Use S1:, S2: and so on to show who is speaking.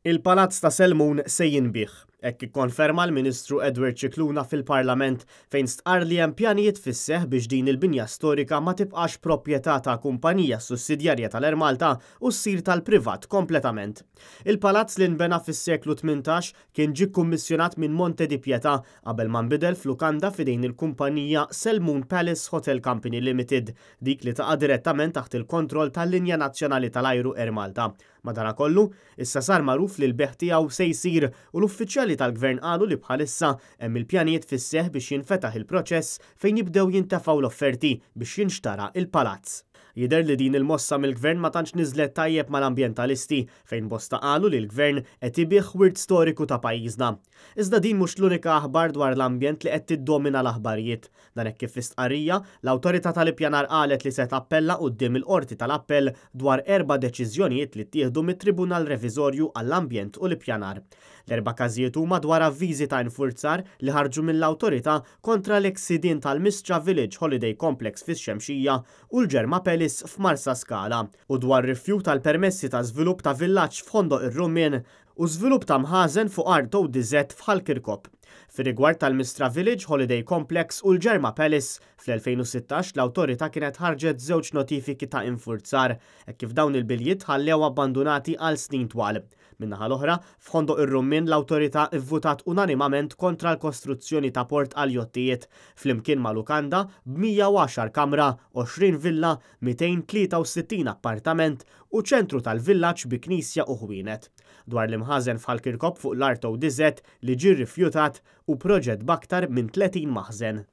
S1: Il-Palazz ta' Selmun se jinbiegħ. Hekk ikkonferma l-Ministru Edward Scicluna fil-Parlament fejn stqarr li hemm pjanijiet fis-seħħ biex din il-binja storika ma tibqax proprjetà ta' kumpanija sussidjarja tal-Air Malta u ssir tal-privat kompletament. Il-palazz li nbena fis-seklu 18 kien ġie kkummissjonat minn Monte di Pietà qabel ma nbidel f'lukanda f'idejn il-kumpanija Selmun Palace Hotel Company Limited, dik li taqa' direttament taħt il-kontroll tal-linja nazzjonali tal-ajru Air Malta. Madanakollu, issa sar magħruf li l-bejgħ tiegħu se jsir u l-uffiċjali tal-Gvern qalu li bħalissa hemm il-pjanijiet fis-seħħ biex jinfetaħ il-proċess fejn jibdew jintefgħu l-offerti biex jinxtara il-palazz. Jidher li din il-mossa mill-Gvern ma tantx niżlet tajjeb mal-ambjentalisti fejn bosta qalu li l-Gvern qed ibigħ wirt storiku ta' pajjiżna. Iżda din mhux l-unika aħbar dwar l-ambjent li qed tiddomina l-aħbarijiet. Dan hekk kif fi stqarrija, l-Awtorità tal-Ippjanar qalet li se tappella quddiem il-Qorti tal-Appell dwar erba' deċiżjonijiet li ttieħdu mit-Tribunal Reviżorju għall-Ambjent u l-Ippjanar. L-erba' każijiet huma dwar avviżi ta' infurzar li ħarġu mill-Awtorità kontra l-eks sidien tal-Mistra Village Holiday Complex fix-Xemxija u l-Ġerma Palace f'Marsaskala u dwar rifjut għal permessi ta' żvilupp ta' villaġġ f'Ħondoq ir-Rummien u żvilupp ta' mħażen fuq art ODZ f'Ħal Kirkop. Fir-rigward tal-Mistra Village Holiday Complex u l-Ġerma Palace, fl-2016 l-Awtorità kienet ħarġet żewġ notifiki ta' infurzar, hekk kif dawn il-biljiet tħallew abbandunati għal snin twal. Min-naħa l-oħra, f'Ħondoq ir-Rummien l-Awtorità vvutat unanimament kontra l-kostruzzjoni ta' port għall-jottijiet, flimkien ma' lukanda b'110 kamra, 20 villa, 263 appartament u ċentru tal-villaġġ bi knisja u ħwienet. Dwar l-imħażen f'Ħal Kirkop fuq l-art ODZ li ġie rrifjutat u proġett b'aktar minn 30 maħżen.